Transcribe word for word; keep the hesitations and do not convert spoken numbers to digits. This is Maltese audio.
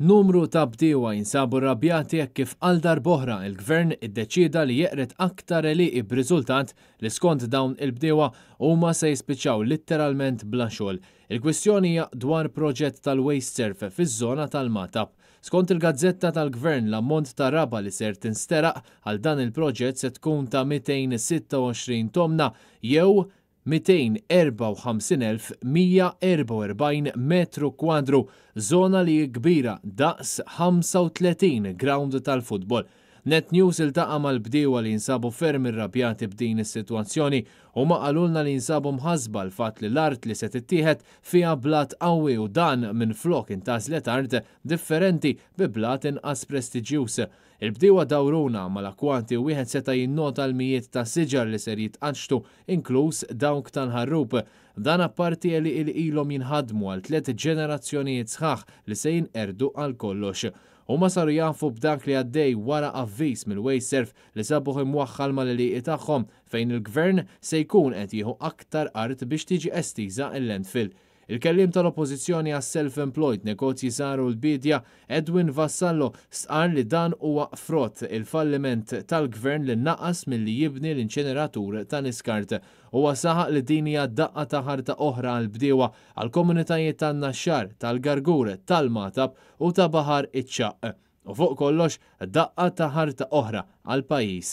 Numru ta' bdiewa jinsabu rrabjati hekk kif għal darb'oħra il-Gvern iddeċieda li jeqred aktar għelieqi b'riżultat li skont dawn il-bdiewa huma se jispiċċaw litteralment bla xogħol. Il-kwistjoni hija dwar proġett tal-WasteServ fiż-żona tal-Magħtab. Skont il-gazzetta tal-Gvern, l-ammont ta' raba li ser tinsteraq għal dan il-proġett se tkun ta' mitejn sitta u għoxrin tomna jew mitejn erbgħa u ħamsin elf mija erbgħa u erbgħin metru kwadru, żona li hi kbira daqs ħamsa u tletin ground tal-futbol. Net News iltaqa' mal-bdiewa li jinsabu ferm irrabjati b'din is-sitwazzjoni. Huma qalulna li jinsabu mħassba l-fatt li l-art li se tittieħed fiha blat qawwi u dan minflok intgħażlet art differenti bi blat inqas prestiġjuż. Il-bdiewa dawruna mal-akkwati u wieħed seta' jinnota l-mijiet ta' siġar li ser jitqaċċtu, inkluż dawk tal-ħarrub. Dan apparti li ilhom jinħadmu għal tliet ġenerazzjonijiet sħaħ li se jinqerdu għal kollox. Huma saru jafu b'dak li għaddej wara avviż mill-WasteServ li sabuh imwaħħal mal-għelieqi tagħhom fejn il-Gvern se jkun qed jieħu aktar art biex tiġi estiża l-landfill. Il-kelliem tal-Oppożizzjoni għas-self-employed negozji żgħar u l-bidja Edwin Vassallo stqarr li dan huwa frott il-falliment tal-Gvern li naqas milli jibni l-inċeneratur tal-iskart. Huwa saħaq li din hija daqqa ta' ħarta oħra għall-bdiewa, għall-komunitajiet tan-Naxxar, tal-Gargur, tal-Magħtab u ta' Baħar iċ-Ċagħaq. U fuq kollox daqqa ta' ħarta oħra għall-pajjiż.